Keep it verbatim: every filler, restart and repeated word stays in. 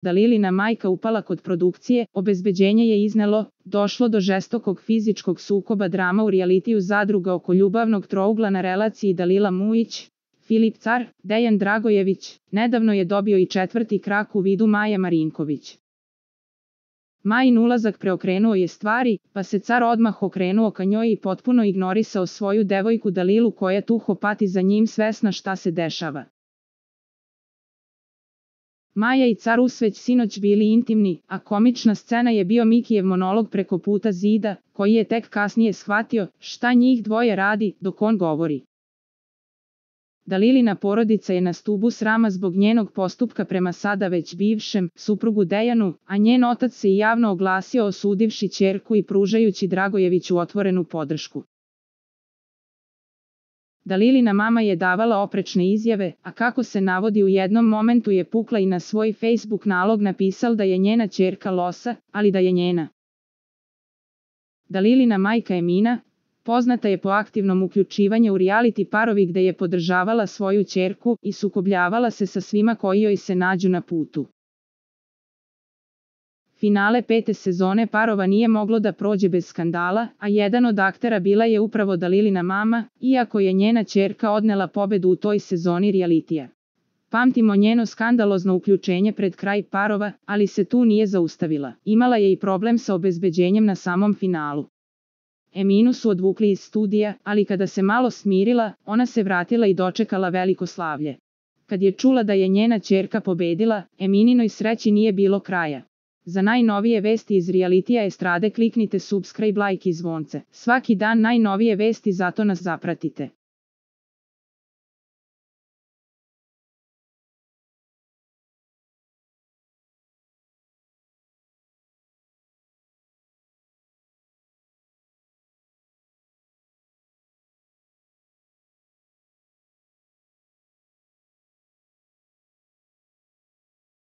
Dalilina majka upala kod produkcije, obezbeđenje je iznelo, došlo do žestokog fizičkog sukoba, drama u realitiju zadruga oko ljubavnog trougla na relaciji Dalila Mujić, Filip Car, Dejan Dragojević, nedavno je dobio i četvrti krak u vidu Maja Marinković. Majin ulazak preokrenuo je stvari, pa se Car odmah okrenuo ka njoj i potpuno ignorisao svoju devojku Dalilu koja tuho pati za njim svesna šta se dešava. Maja i Car su već sinoć bili intimni, a komična scena je bio Mikijev monolog preko puta zida, koji je tek kasnije shvatio šta njih dvoje radi dok on govori. Dalilina porodica je na stubu srama zbog njenog postupka prema sada već bivšem suprugu Dejanu, a njen otac se i javno oglasio osudivši ćerku i pružajući Dragojeviću otvorenu podršku. Dalilina mama je davala oprečne izjave, a kako se navodi u jednom momentu je pukla i na svoj Facebook nalog napisal da je njena ćerka losa, ali da je njena. Dalilina majka Emina, poznata je po aktivnom uključivanju u reality parovi gde je podržavala svoju ćerku i sukobljavala se sa svima koji joj se nađu na putu. Finale pete sezone Parova nije moglo da prođe bez skandala, a jedan od aktera bila je upravo Dalilina mama, iako je njena ćerka odnela pobedu u toj sezoni realitija. Pamtimo njeno skandalozno uključenje pred kraj Parova, ali se tu nije zaustavila. Imala je i problem sa obezbeđenjem na samom finalu. Eminu su odvukli iz studija, ali kada se malo smirila, ona se vratila i dočekala veliko slavlje. Kad je čula da je njena ćerka pobedila, Emininoj sreći nije bilo kraja. Za najnovije vesti iz realitija estrade kliknite subscribe, like i zvonce. Svaki dan najnovije vesti, zato nas zapratite.